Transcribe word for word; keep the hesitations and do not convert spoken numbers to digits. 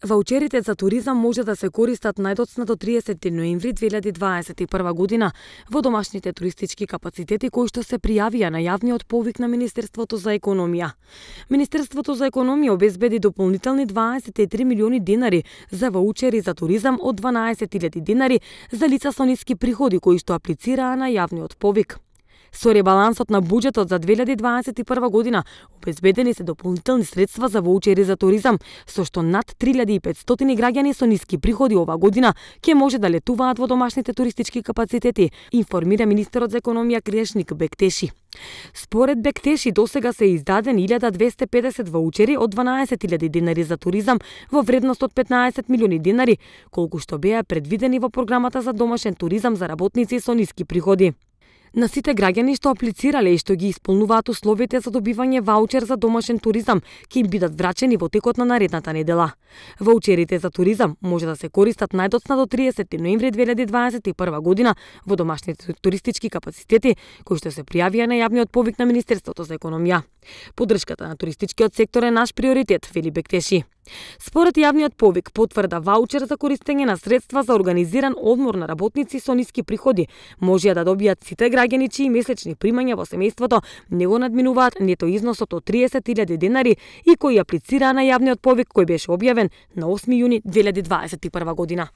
Ваучерите за туризам може да се користат најдоцна до триесети ноември две илјади дваесет и прва година во домашните туристички капацитети кои што се пријавија на јавниот повик на Министерството за економија. Министерството за економија обезбеди дополнителни дваесет и три милиони денари за ваучери за туризам од дванаесет илјади денари за лица со ниски приходи кои што аплицираа на јавниот повик. Со ребалансот на буџетот за две илјади дваесет и прва година обезбедени се дополнителни средства за ваучери за туризам, со што над три илјади и петстотини граѓани со ниски приходи ова година ќе може да летуваат во домашните туристички капацитети, информира министерот за економија Крешник Бектеши. Според Бектеши досега се издадени илјада двесте и педесет ваучери од дванаесет илјади денари за туризам во вредност од петнаесет милиони денари, колку што беа предвидени во програмата за домашен туризам за работници со ниски приходи. На сите граѓани што аплицирале и што ги исполнуваат условите за добивање ваучер за домашен туризам ќе им бидат врачени во текот на наредната недела. Ваучерите за туризам може да се користат најдоцна до триесети ноември две илјади дваесет и прва година во домашните туристички капацитети кои што се пријавија на јавниот повик на Министерството за економија. Поддршката на туристичкиот сектор е наш приоритет, вели Бектеши. Според јавниот повик, потврда ваучер за користење на средства за организиран одмор на работници со ниски приходи можеа да добијат сите граѓани чии месечни примања во семејството не го надминуваат нето износот од триесет илјади денари и кои аплицираа на јавниот повик кој беше објавен на осми јуни две илјади дваесет и прва година.